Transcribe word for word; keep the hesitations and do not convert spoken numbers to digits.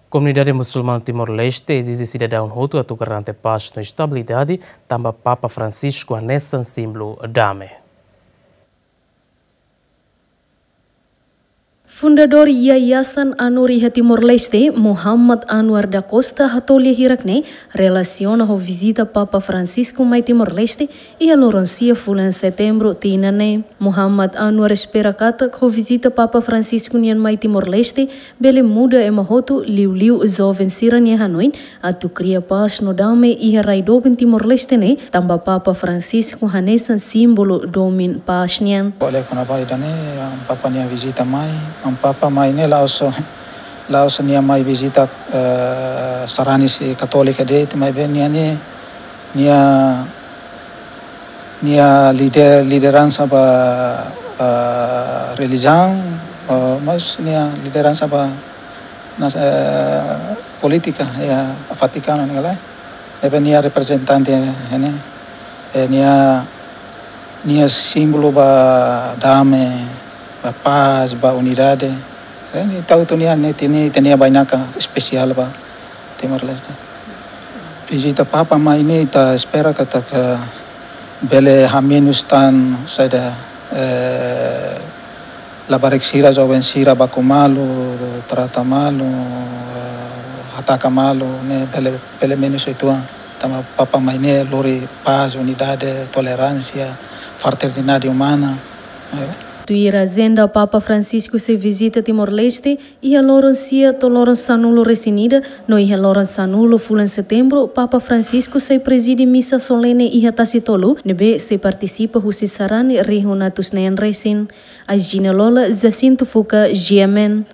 Komunidade musulmana Timor-Leste ezije sidadaun hotu atu garante pás no estabilidade, tanba Papa Francisco hanesan símbolu dame. Fundadór Yayasan ANUR iha Timor-Leste, Muhammad Anwar da Costa, hato'o lia hirak ne'e relasiona ho vizita Papa Francisco mai Timor-Leste iha loron sia fulan Setembru tinan ne'e. Muhammad Anwar espera katak ho vizita Papa Francisco nian mai Timor-Leste bele muda ema hotu, liuliu joven sira-nia hanoin atu kria pás no dame iha rai doben Timor-Leste ne'e, tanba Papa Francisco hanesan símbolu domin pás nian. Oleh karena ida-ne'e, Papa nia vizita mai, Papa mai ne'e la'ós, la'ós nia mai vizita, eh, sarani husi Katólika de'it, maibé nia ne'e, nia, nia lider, lideransa ba, eh, relijiaun, eh, mas nia lideransa ba nas-, eh, polítika iha Vatikanu ne'e ka lae. Ne'ebé nia reprezentante ne'e, eh, nia, nia símbolu ba dame, ba pás, ba unidade. Eh, entaun nia, nia, nia, nia bainaka espesiál ba Timor-Leste. Vizita Papa mai ne'e ita espera katak bele hamenus tan saida, eh, labarik sira, joven sira baku malu, trata malu, eh, hataka malu, ne'e bele, bele menus uitoan. Tanba Papa mai ne'e lori pás, unidade, toleránsia, fraternidade umana. Eh. Tuir ajenda, Papa Francisco sei vizita Timor-Leste iha loron sia to'o loron sanulu-resin-ida, no iha loron sanulu fulan Setembru, Papa Francisco sei prezide misa solene iha Tasitolu, ne'ebé sei partisipa husi sarani rihun atus neen resin. Aijina Lola, Jacinto Fuca, G M N.